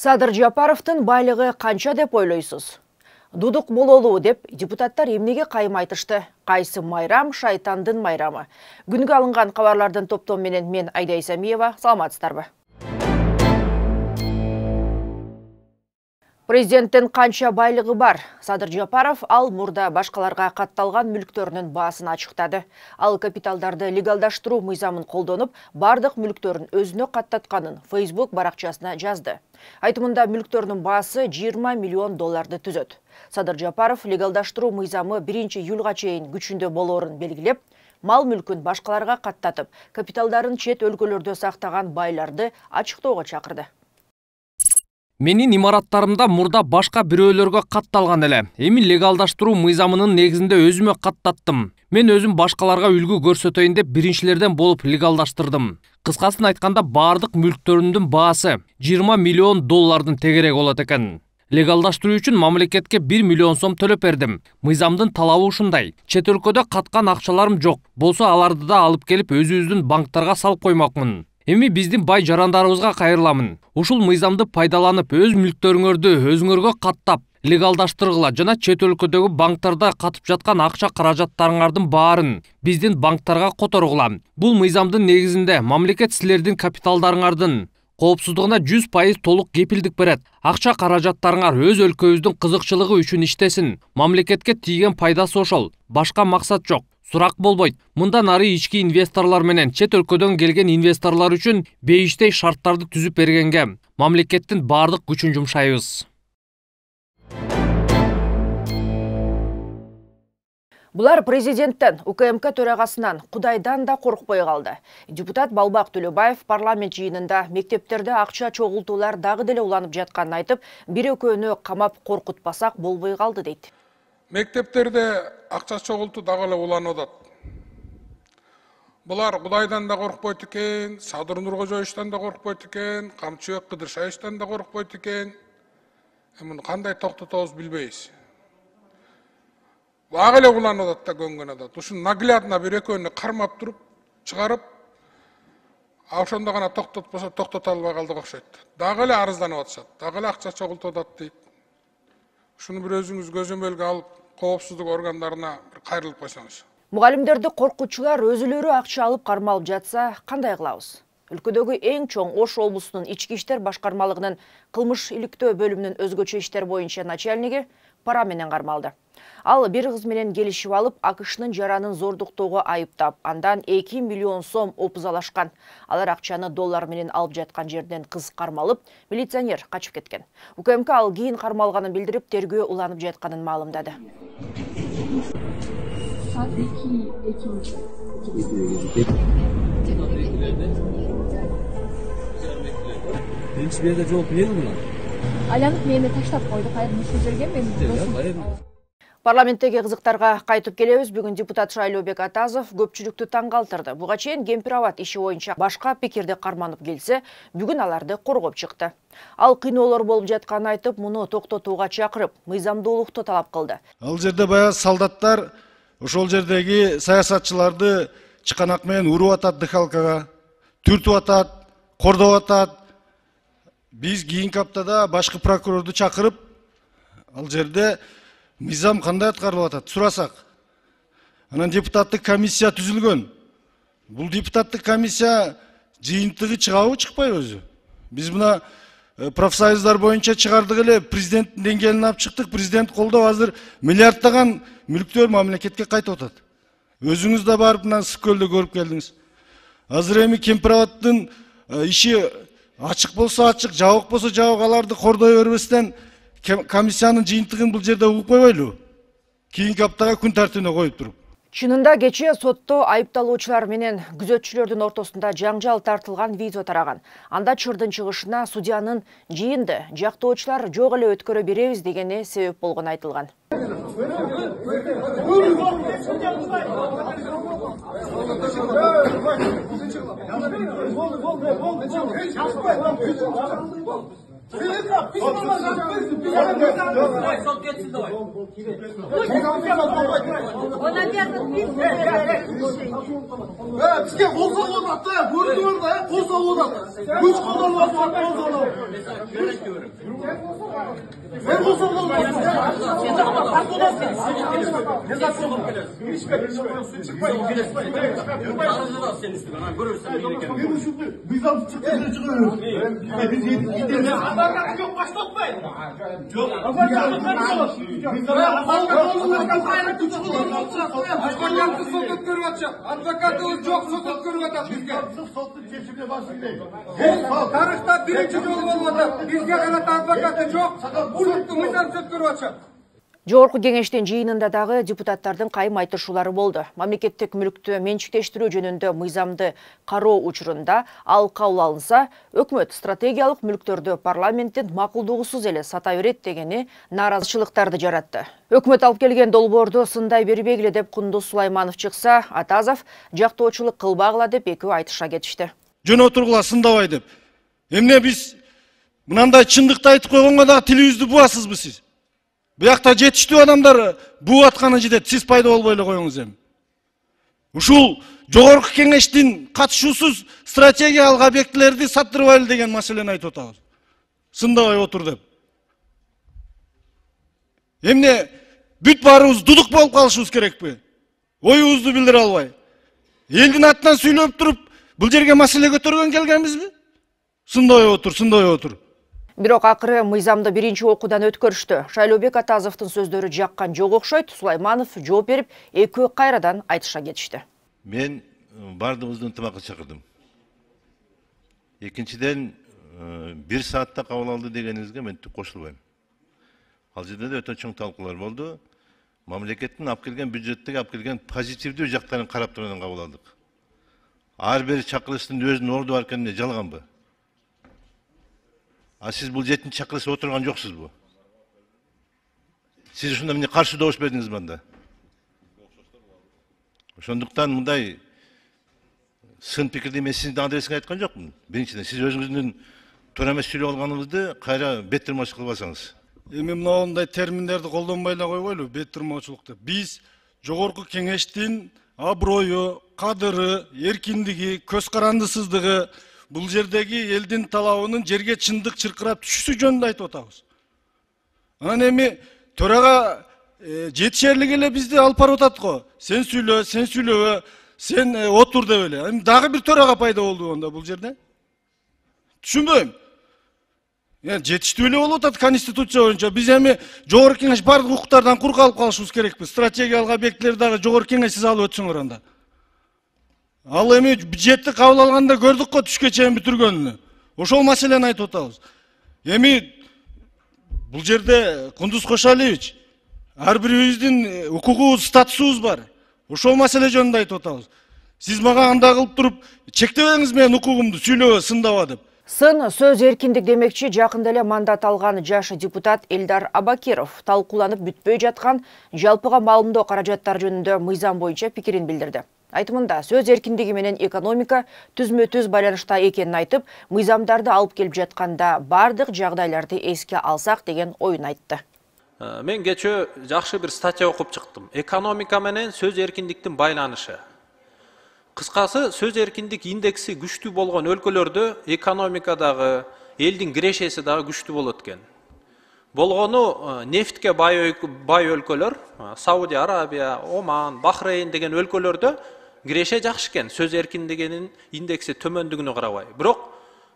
Садыр Жапаровдун байлыгы канча деп ойлойсуз? Дудук бололу деп депутаттар эмнеге кайым айтышты? Кайсы майрам шайтандын майрамы? Күнгө алынган кабарлардын топтому менен мен Айда Исамиева, саламатсыздарбы? Президенттин канча байлыгы бар? Садыр Жапаров ал мурда башкаларга катталган мүлктөрүнүн баасын ачыктады. Ал капиталдарды легалдаштыруу мыйзамын колдонуп, бардык мүлктөрүн өзүнө каттатканын Facebook баракчасына жазды. Айтымында мүлктөрүнүн баасы 20 миллион долларды түзөт. Садыр Жапаров легалдаштыруу мыйзамы 1-июлга чейин күчүндө болоорун белгилеп, мал мүлкүн башкаларга каттатып, капиталдарын чет өлкөлөрдө сактаган байларды ачыктоого чакырды. Менин имараттарымда мурда башка бирөөлөргө катталган эле. Эми легалдаштыруу мыйзамынын негизинде өзүмө каттаттым. Мен өзүм башкаларга үлгү көрсөтөйүн деп биринчилерден болуп легалдаштырдым. Кыскасын айтканда бардык мүлктөрүмдүн баасы 20 миллион доллардын тегерек болот экен. Легалдаштыруу үчүн мамлекетке 1 миллион сом төлөп бердим. Мыйзамдын талабы ушундай. Чет өлкөдө каткан акчаларым жок. Болсо аларды да алып келип өзүбүздүн банктарга салып коймокмун. Эми биздин бай жарандарыбызга кайрыламын. Ушул мыйзамды пайдаланып, өз мүлктөрүңөрдү өзүңөргө каттап, легалдаштыргыла жана чет өлкөдөгү банктарда катып жаткан акча каражаттарыңардын баарын биздин банктарга которгула. Бул мыйзамдын негизинде мамлекет силердин капиталдарыңардын коопсуздугуна 100% толук кепилдик берет. Акча каражаттарыңар өз өлкөбүздүн кызыкчылыгы үчүн иштесин. Мамлекетке тийген пайдасы ошол. Башка максат жок. Сурак болбойт. Мындан ары ички инвесторлор менен чет өлкөдөн келген инвесторлор үчүн бейиштей шарттарды түзүп бергенге мамлекеттин бардык күчүн жумшайбыз. Булар президенттен, УКМК төрагасынан, Кудайдан да коркпой калды. Депутат Балбак Төлөбаев парламент жыйынында мектептерде акча чогултуулар дагы деле уланып жатканын айтып, бир-экөөнү камап коркутпасак болбой калды дейт. Мектептерде акча чогултуу дагы эле уланып атат. Булар Кудайдан да коркпойт экен, Садыр Нуркожоевичтен да коркпойт экен, Камчыбек Кыдыршаевичтен да коркпойт экен. Муну кандай токтотобуз билбейбиз. Дагы эле уланып атат да көнгөн атат. Ушун наглядно бир-экөөнү кармап туруп, чыгарып, ошондо гана токтотпосо токтото албай калдык окшойт. Дагы эле арызданып атышат. Дагы эле акча чогултуп атат дейт. Ушуну бір өзүңүз көзөмөлгө алып, коопсуздук органдарына кайрылып койсоңуз. Мугалимдерди коркутчулар өзүлөрү акча алып кармалып жатса, кандай кылабыз? Өлкөдөгү эң чоң Ош облусунун ички иштер башкармалыгынын кылмыш иликтөө бөлүмүнүн өзгөчө иштер боюнча начальниги пара менен кармалды. Ал бир кыз менен келишип алып, АКШнын жаранын зордуктоого айыптап, андан 2 миллион сом опузалашкан. Алар акчаны доллар менен алып жаткан жерден кыз кармалып, милиционер качып кеткен. УКМК ал кийин кармалганын билдирип, тергөө уланып жатканын маалымдады. Биринчи берде жооп берди мына. Айланып мени таштап койду, кайры ушул жерге мен. Парламенттеги кызыктарга кайтып келебиз. Бүгүн депутат Шайлообек Атазов көпчүлүктү таң калтырды. Буга чейин Кемпир-Абад иши боюнча башка пикирди карманып келсе, бүгүн аларды коргоп чыкты. Ал кыйноолор болуп жатканын айтып, муну токтотууга чакырып, мыйзамдуулукту талап кылды. Ал жерде баягы солдаттар ошол жердеги саясатчыларды чыканак менен уруп атат дыхалкага, түртүп атат, кордоп атат. Биз кийинки аптада башкы прокурорду чакырып, ал жерде мыйзам кандай аткарылып атат сурасак. Анан депутаттык комиссия түзүлгөн. Бул депутаттык комиссия жыйынтыгы чыгабы, чыкпайбы өзү? Биз мына профсоюздар боюнча чыгардык эле, президенттин деңгээлине алып чыктык. Президент колдоп азыр миллиарддаган мүлктөр мамлекетке кайтып атат. Өзүңүз да барып мына Ысык-Көлдө көрүп келдиңиз. Азыр эми Кемпир-Абадтын иши ачык болсо ачык, жабык болсо жабык, аларды кордой бербестен комиссиянын жыйынтыгын бул жерде угуп койбойлу. Кийинки аптага күн тартибине коюп туруп. Чынында кечээ сотто айыпталуучулар менен күзөтчүлөрдүн ортосунда жаңжал тартылган видео тараган. Анда чырдын чыгышына судьянын жыйынды жактоочулар жок эле өткөрө беребиз дегени себеп болгону айтылган. Бізге қолсау одатты, көрдіңіз да, қолсау одат. Күш қолданып мен қолсау адвокаты жоқ, сот көріп атат бізге. Тарихта бірінші жол болып атат. Бізге ғана адвокаты жоқ, соттың мыйзам сот көріп атат. Жогорку кеңештин жыйынында дагы депутаттардын кайым айтышуулары болду. Мамлекеттик мүлктү менчиктештирүү жөнүндө мыйзамды кароо учурунда ал кабыл алынса, өкмөт стратегиялык мүлктөрдү парламенттин макулдугусуз эле сата берет дегени нааразычылыктарды жаратты. Өкмөт алып келген долбоорду сындай бербегиле деп Кундуз Сулайманов чыкса, Атазов жактоочулук кылбагыла деп экөө айтыша кетишти. Жөн отургула сындабай деп. Эмне биз мынандай чындыкты айтып койгонго да тилибизди буасызбы сиз? Буякта жетиштүү адамдар буу атканы жетет, сиз пайда болбой эле коюңуз эми. Ушул жогорку кеңештин катышуусуз стратегиялык объектилерди саттырбайлы деген маселени айтып атабыз. Сындабай отур деп. Эмне бүт баарыбыз дудук болуп калышыбыз керекпи? Оюбузду билдире албай. Элдин атынан сүйлөп туруп, бул жерге маселе көтөргөн келгенбизби? Сындабай отур, сындабай отур. Бирок акыры мыйзамды биринчи окуудан өткөрүштү. Шайлообек Атазовдун сөздөрү жаккан жок окшойт. Сулайманов жооп берип, экөө кайрадан айтыша кетишти. Мен бардыгыбызды ынтымакка чакырдым. Экинчиден, 1 саатта кабыл алды дегениңизге мен түк кошулбайм. Ал жерде да өтө чоң талкуулар болду. Мамлекеттин алып келген бюджеттеги алып келген позитивдүү жактарын карап турган кабыл алдык. Ар бир чакырыштын өзүнүн орду бар экенин жалганбы? А сиз бул 7-чи чакырышта отурган жоксузбу? Сиз ушунда эмне каршы добуш бердиңиз мында? Ошондуктан мындай сын пикирди мен сиздин адресиңизге айткан жокмун. Биринчиден сиз өзүңүздүн туура эмес сүйлөп алганыңызды кайра бет тырмачылык кылбасаңыз. Эми мындай терминдерди колдонбой эле койгойлу, бет тырмоочулук деп. Биз жогорку кеңештин аброю, кадыры, эркиндиги, көз карандысыздыгы, бул жердеги элдин талабынын жерге чындык чыркырап түшүүсү жөнүндө айтып атабыз. Анан эми төрага жетишерлик эле бизди алып барып атат го. Сен сүйлөбө, сен отур деп эле. Эми дагы бир төрага пайда болду онда бул жерде. Түшүнбөйм. Жетиштүү эле болуп атат конституция боюнча. Биз эми жогорку кеңеш бардык укуктардан кур калып калышыбыз керекпи? Стратегиялык объектилерди дагы жогорку кеңешсиз алып өтсөңөр анда. Ал эми бюджетти кабыл алганда көрдүк го түшкө чейин бүтүргөнүн. Ошол маселени айтып атабыз. Эми бул жерде Кундуз Кошалиевич, ар бирибиздин укугубуз, статусубуз бар. Ошол маселе жөнүндө айтып атабыз. Сиз мага андай кылып туруп, чектебеңиз менин укугумду, сүйлөбө, сындаба деп. Сын сөз эркиндик демекчи жакында эле мандат алган жаш депутат Элдар Абакиров талкууланып бүтпөй жаткан жалпыга маалымдоо каражаттары жөнүндө мыйзам боюнча пикирин билдирди. Айтымында сөз эркиндиги менен экономика түзмө-түз байланышта экенин айтып, мыйзамдарды алып келип жатканда бардык жагдайларды эске алсак деген оюн айтты. Мен кечээ жакшы бир статья окуп чыктым. Экономика менен сөз эркиндиктин байланышы. Кыскасы, сөз эркиндик индекси күчтүү болгон өлкөлөрдө экономикадагы, элдин кирешеси дагы күчтүү болот экен. Болгону нефтке бай өлкөлөр, Саудия Арабия, Оман, Бахрейн деген өлкөлөрдө киреше жакшы экен, сөз эркиндигинин индекси төмөндүгүнө карабай. Бирок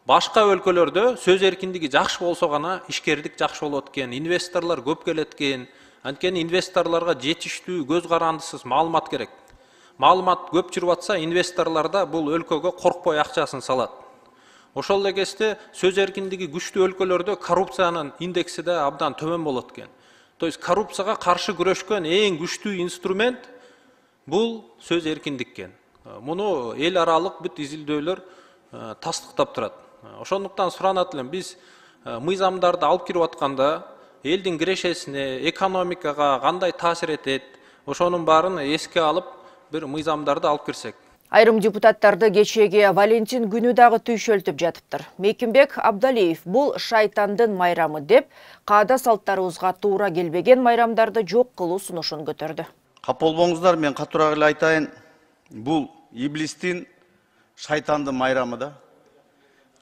башка өлкөлөрдө сөз эркиндиги жакшы болсо гана ишкердик жакшы болот экен, инвесторлор көп келет экен. Анткени инвесторлорго жетиштүү, көз карандысыз маалымат керек. Маалымат көп жүрүп атса, инвесторлор да бул өлкөгө коркпой акчасын салат. Ошол эле кезде сөз эркиндиги күчтүү өлкөлөрдө коррупциянын индекси да абдан төмөн болот экен. То есть коррупцияга каршы күрөшкөн эң күчтүү инструмент бул сөз эркиндик экен. Муну эл аралык бүт изилдөөлөр тастыктап турат. Ошондуктан суранат элем, биз мыйзамдарды алып кирип атканда элдин кирешесине, экономикага кандай таасир этет, ошонун баарын эске алып бир мыйзамдарды алып кирсек. Айрым депутаттарды кечеги Валентин күнү дагы түйшөлтүп жатыптыр. Мекимбек Абдалиев бул шайтандын майрамы деп, каада салттарыбызга туура келбеген майрамдарды жок кылуу сунушун көтөрдү. Кап болбоңуздар, мен катуураак эле айтайын, бул иблистин, шайтандын майрамы да.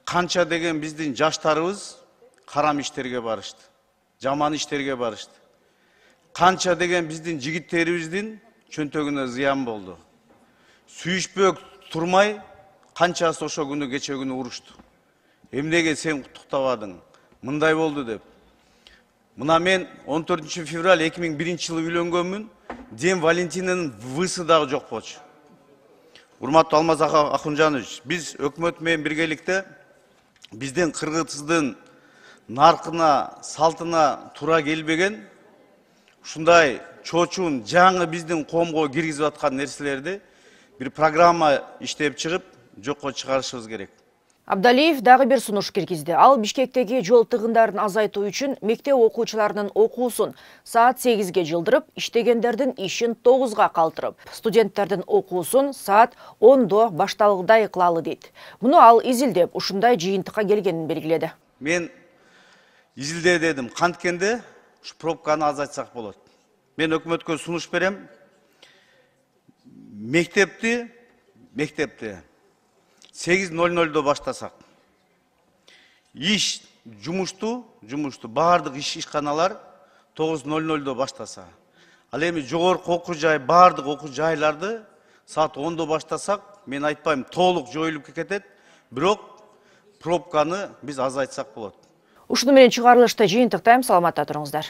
Канча деген биздин жаштарыбыз карам иштерге барышты, жаман иштерге барышты. Канча деген биздин жигиттерибиздин чөнтөгүнө зыян болду. Сүйүшпөк турмай, канчасы ошо күнү кече күнү урушту. Эмнеге сен куттуктабадың, мындай болду деп. Мына мен 14 февраль 2001 жылы үйлөнгөнмүн, Ден Валентинин высы дагы жок болчу. Урматтуу Алмаз Акунжанович, биз өкмөт менен биргеликте биздин кыргыздын наркына, салтына туура келбеген, ушундай чоочун жаңы биздин коомго киргизип аткан нерселерди bir программа иштеп чыгып, жокко чыгарышыбыз керек. Абдалиев дагы бир сунуш киргизди. Ал Бишкектеги жол тыгындарын азайтуу үчүн мектеп окуучуларынын окуусун саат 8ге жылдырып, иштегендердин ишин 9га калтырып, студенттердин окуусун саат 10до башталгыдай кылалы дейт. Муну ал изилдеп, ушундай жыйынтыкка келгенин белгиледи. Мен изилде дедим, канткенде ушу пробканы азайтсак болот. Мен өкмөткө сунуш берем. Мектепти 8:00 баштасак. Иш жумушту баардык ишканалар 9:00 баштаса. Ал эми жогорку окуу жай, баардык окуу жайларды саат 10до баштасак, мен айтпайм толук жоюлуп кетет, бирок пробканы биз азайтсак болот. Ушуну менен чыгарылышты жыйынтыктайм, саламатта туруңуздар.